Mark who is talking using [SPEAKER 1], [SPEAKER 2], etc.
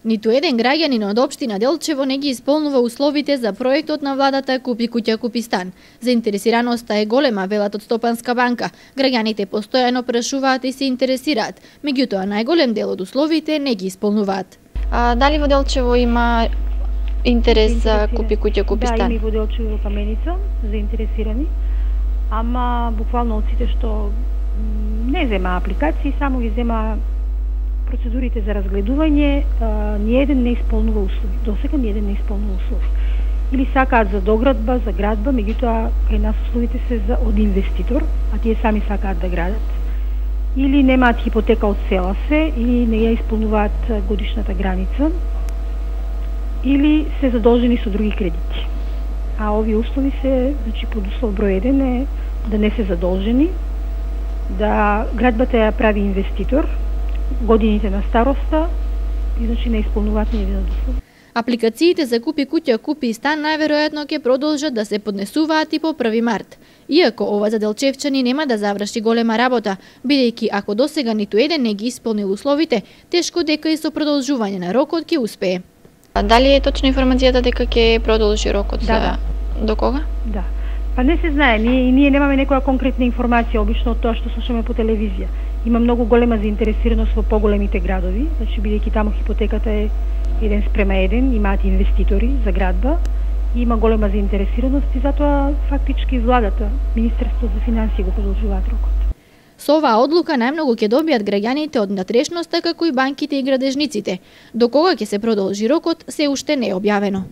[SPEAKER 1] Ниту еден граѓанин од општина Делчево не ги исполнува условите за проектот на владата Купи куќа, купи стан. Заинтересираноста е голема, велат од Стопанска банка. Граѓаните постојано прашуваат и се интересираат, меѓутоа најголем дел од условите не ги исполнуваат.
[SPEAKER 2] Дали во Делчево има интерес за Купи куќа, купи стан?
[SPEAKER 3] Да, има во Делчево Каменица заинтересирани, ама буквално од сите што не зема апликации, само ги зема процедурите за разгледување, ниеден не исполнува услови. Досега ниеден не исполнува услови. Или сакаат за доградба, за градба, меѓутоа кај нас условите се за од инвеститор, а тие сами сакаат да градат. Или немаат хипотека од села се, или не ја исполнуваат годишната граница, или се задолжени со други кредити. А овие услови се, значи под услов број 1 е да не се задолжени, да градбата ја прави инвеститор, годините на староста и значи не исполнуваат ниеден од услови.
[SPEAKER 1] Апликациите за Купи куќа, купи стан најверојатно ќе продолжат да се поднесуваат и по 1 март. Иако ова за делчевчани нема да заврши голема работа, бидејќи ако досега ниту еден не ги исполнил условите, тешко дека и со продолжување на рокот ќе успее.
[SPEAKER 2] Дали е точна информацијата дека ќе продолжи рокот?
[SPEAKER 3] Да.
[SPEAKER 2] До кога?
[SPEAKER 3] Да. Па не се знае, ние немаме некоја конкретна информација, обично од тоа што слушаме по телевизија. Има многу голема заинтересираност во поголемите градови, значи бидејќи таму хипотеката е 1:1, имаат инвеститори за градба, и има голема заинтересираност и затоа фактички владата, Министерството за финансии го продолжуваат рокот.
[SPEAKER 1] Со оваа одлука најмногу ќе добијат граѓаните од натрешноста, како и банките и градежниците. До кога ќе се продолжи рокот, се уште не е објавено.